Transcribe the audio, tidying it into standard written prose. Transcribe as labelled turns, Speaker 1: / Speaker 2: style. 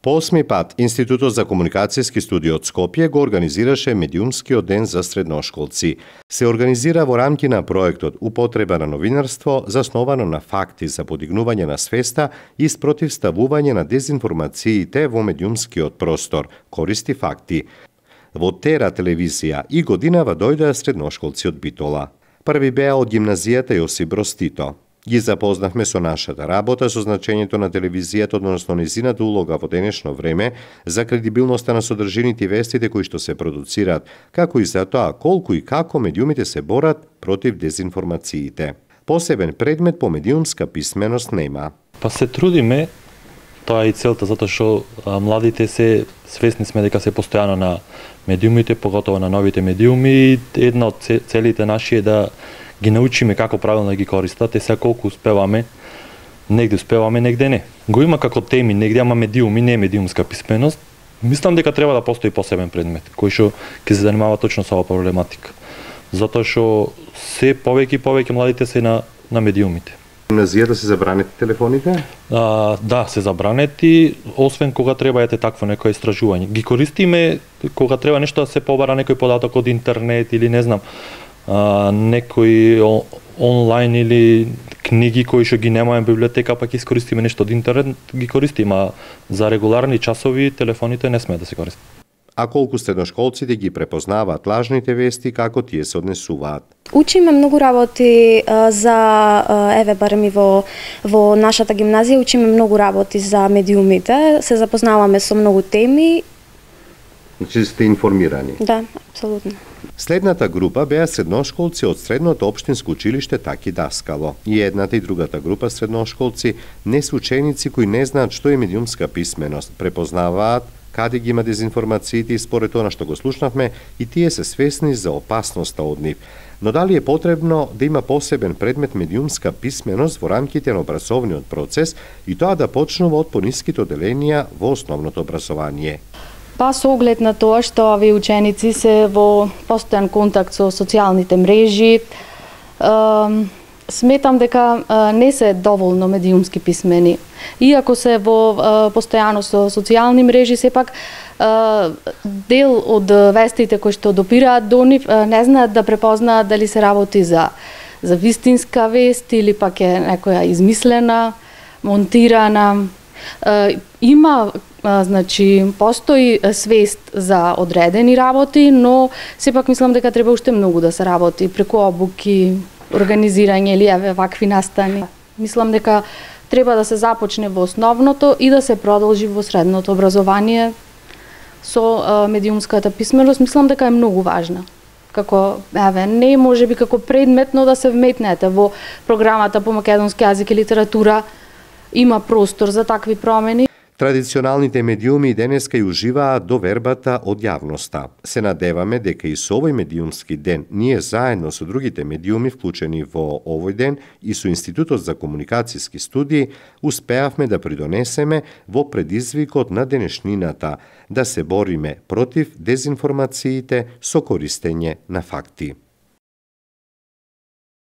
Speaker 1: По 8 пат, Институтот за комуникацијски студии од Скопје го организираше медиумскиот ден за средношколци. Се организира во рамки на проектот Употреба на новинарство, засновано на факти за подигнување на свеста и спротивставување на дезинформациите во медиумскиот простор, користи факти. Во Тера телевизија и годинава дојдоа средношколци од Битола. Први беа од гимназијата Јосип Броз Тито. Ги запознавме со нашата работа, со значењето на телевизијата, односно незината улога во денешно време, за кредибилноста на содржините и вестите кои што се продуцираат, како и за тоа колку и како медиумите се борат против дезинформациите. Посебен предмет по медиумска писменост нема.
Speaker 2: Па се трудиме, тоа е и целта, затоа што младите се свесни сме дека се постојано на медиумите, поготово на новите медиуми, и една од целите наши е да ги научиме како правилно да ги користат, и сега колку успеваме, негде успеваме, негде не. Го има како теми, негде ама медиуми, не медиумска писменост. Мислам дека треба да постои посебен предмет, кој што ќе се занимава точно со оваа проблематика. Затоа што се повеќе и повеќе младите се на медиумите.
Speaker 1: Гимназијата се забранети телефоните?
Speaker 2: Да, се забранети, освен кога треба ете такво некое истражување. Ги користиме кога треба нешто да се побара некој податок од интернет или не знам, некои онлайн или книги кои што ги немаме во библиотека, па ќе искористиме нешто од интернет, ги користиме, а за регуларни часови телефоните не сме да се користат.
Speaker 1: А колку средношколците ги препознаваат лажните вести, како тие се однесуваат?
Speaker 3: Учиме многу работи барем и во нашата гимназија учиме многу работи за медиумите, се запознаваме со многу теми.
Speaker 1: Значи сте информирани?
Speaker 3: Да, апсолутно.
Speaker 1: Следната група беа средношколци од средното општинско училиште Таки Даскало. И едната и другата група средношколци не се ученици кои не знаат што е медиумска писменост, препознаваат каде ги има дезинформациите и според тоа што го слушнавме, и тие се свесни за опасноста од нив. Но дали е потребно да има посебен предмет медиумска писменост во рамките на образовниот процес и тоа да почнува од пониските оделенија во основното образование?
Speaker 4: Па со оглед на тоа што овие ученици се во постојан контакт со социјалните мрежи, сметам дека не се доволно медиумски писмени. Иако се во постојано со социјални мрежи, сепак дел од вестите кои што допираат до нив не знаат да препознаат дали се работи за вистинска вест или пак е некоја измислена, монтирана. Има, значи, постои свест за одредени работи, но сепак мислам дека треба уште многу да се работи преку обуки, организирање или вакви настани. Мислам дека треба да се започне во основното и да се продолжи во средното образование со медиумската писменост. Мислам дека е многу важна. Како, не можеби како предмет, но да се вметнете во програмата по македонски јазик и литература. Има простор за такви промени.
Speaker 1: Традиционалните медиуми денеска ја уживаат довербата од јавноста. Се надеваме дека и со овој медиумски ден ние заедно со другите медиуми вклучени во овој ден и со Институтот за комуникацијски студии успеавме да придонесеме во предизвикот на денешнината, да се бориме против дезинформациите со користење на факти.